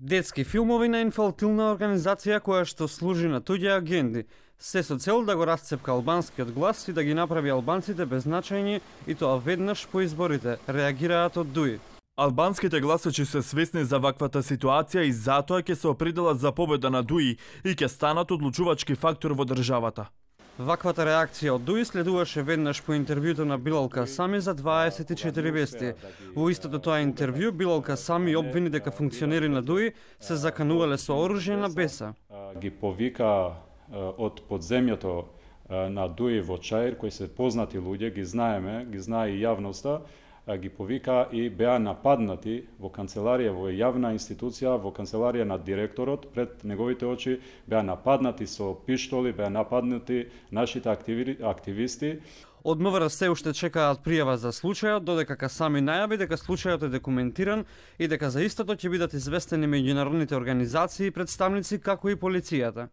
Детски филмови на инфалтилна организација која што служи на туѓи агенди, се со цел да го расцепка албанскиот глас и да ги направи албанците беззначајни, и тоа веднаш по изборите, реагираат од ДУИ. Албанските гласачи се свесни за ваквата ситуација и затоа ќе се определат за победа на ДУИ и ќе станат одлучувачки фактор во државата. Ваквата реакција од ДУИ следуваше веднаш по интервјуто на Билал Касами за 24 вести. Во истото тоа интервју Билал Касами обвини дека функционери на ДУИ се заканувале со оружје на беса. Ги повика од подземјето на ДУИ во Чаир, кои се познати луѓе, ги знаеме, ги знае и јавноста, ги повика и беа нападнати во канцеларија, во јавна институција, во канцеларија на директорот, пред неговите очи беа нападнати со пиштоли, беа нападнати нашите активисти. Од МВР се уште чекаат пријава за случајот, додека Касами најави дека случајот е документиран и дека за истото ќе бидат известени меѓународните организации и представници како и полицијата.